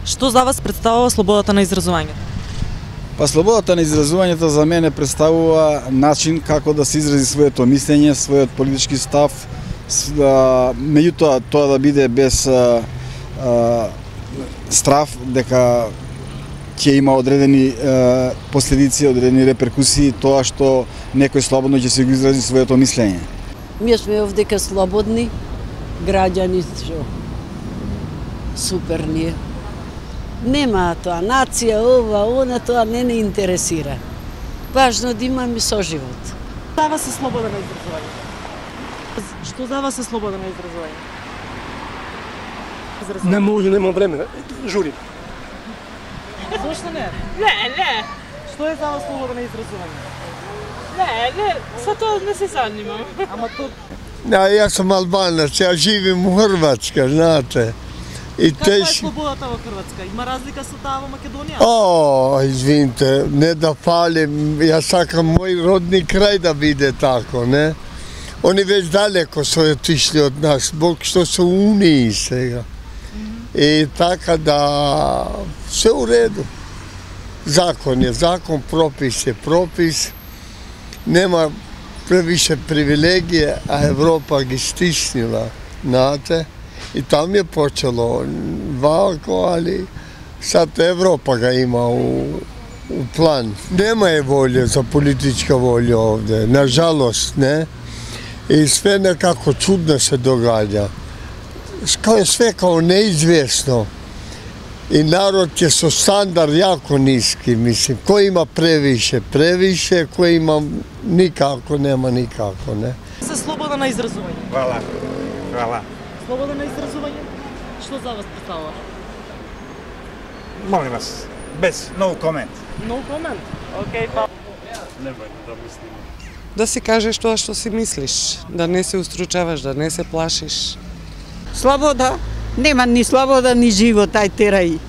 Што за вас представува слободата на изразувањето? Па слободата на изразувањето за мене представува начин како да се изрази своето мислење, својот политички став, меѓутоа тоа да биде без страв дека ќе има одредени последици, одредени реперкусии тоа што некој слободно ќе се го изрази своето мислење. Ние сме овдека слободни граѓани, што супер ние. Нема тоа нација, ова, она, тоа не интересира. Важно да имаме соживот. За вас е слобода на изразување? Што за вас е слобода на изразување? Не може, нема време. Жури. Зошто не? Не. Што е за вас слобода на изразување? Не, sa тоа не се занимам. Ама тоа... Ја сум албанец, ја живим у Хрватска, знаете. Каква е слободата во Хрватска? Има разлика со таа во Македонија? Извините, не да палим, ја сакам мој родни крај да биде тако, не? Они веќе далеко се отишли од нас, Бог што се унии сега. И така да се у реду. Закон е закон, пропис е пропис. Нема превише привилегија, а Европа ги стиснила, знаете. И там е почело вако, али сад Европа га има у план. Нема е волја за политичка волја овде, нажалост, не. И све некако чудно се догаѓа. Све као неизвестно. И народ ќе со стандард јако ниски, мислим. Кој има превише, кој има никако, нема никако, не. За слобода на изразување. Хвала. Слобода на изразување? Што за вас представува? Молим вас, без no comment. No comment? Океј, па. Немојте да мислиме. Да си кажеш тоа што си мислиш, да не се устручаваш, да не се плашиш. Слобода? Нема ни слобода, ни живот, ај терај.